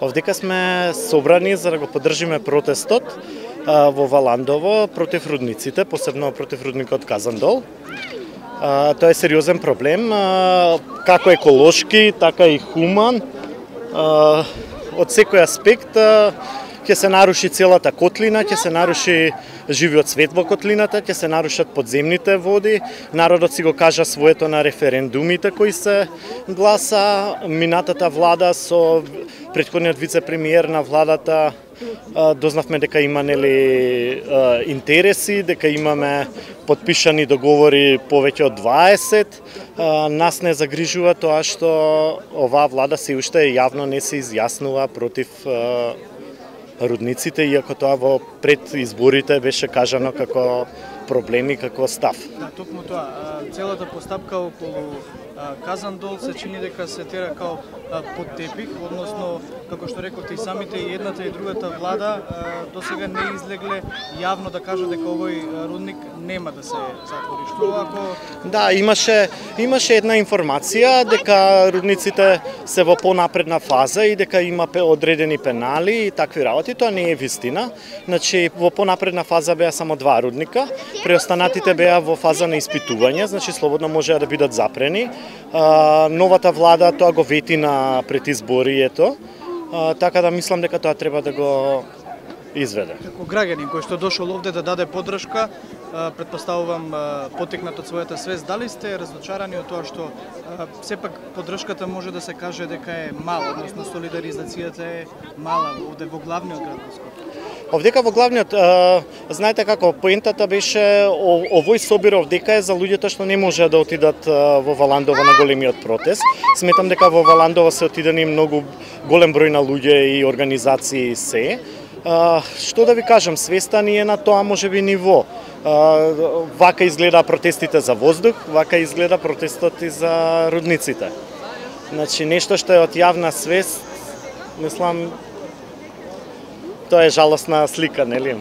Овдека сме собрани за да го поддржиме протестот во Валандово против рудниците, посебно против рудникот Казандол. Тоа е сериозен проблем, како еколошки, така и хуман. Од секој аспект ќе се наруши целата котлина, ќе се наруши живиот свет во котлината, ќе се нарушат подземните води. Народот си го кажа своето на референдумите кои се гласа. Минатата влада со претходниот вице-премиер на владата дознавме дека има интереси, дека имаме подпишани договори повеќе од 20. Нас не загрижува тоа што оваа влада се уште јавно не се изјаснува против рудниците, иако тоа во пред изборите беше кажано како проблеми, како став. Да, токму тоа, целата постапка околу Казандол се чини дека се тера као под тепих, односно, како што рековте и самите, и едната и другата влада досега не излегле јавно да кажат дека овој рудник нема да се затвори. Што ако... Да, имаше една информација дека рудниците се во понапредна фаза и дека има одредени пенали и такви работи. Тоа не е вистина. Значи, во понапредна фаза беа само 2 рудника, преостанатите беа во фаза на испитување, значи слободно можеа да бидат запрени. Новата влада тоа го вети на предизборието, така да мислам дека тоа треба да го изведе. Како граѓанин кој што дошол овде да даде поддршка, претпоставувам потекнат од својата свест, дали сте разочарани од тоа што сепак поддршката може да се каже дека е мала, односно солидаризацијата е мала овде во главниот град на Скопје? Овдека во главниот, знаете како, поентата беше овој собир овдека е за луѓето што не можеа да отидат во Валандово на големиот протест. Сметам дека во Валандово се отидени многу голем број на луѓе и организации се. Што да ви кажам, свеста ни е на тоа можеби ниво. Вака изгледа протестите за воздух, вака изгледа протестот и за рудниците. Значи, нешто што е од јавна свест, мислам, тоа е жалосна слика, нели?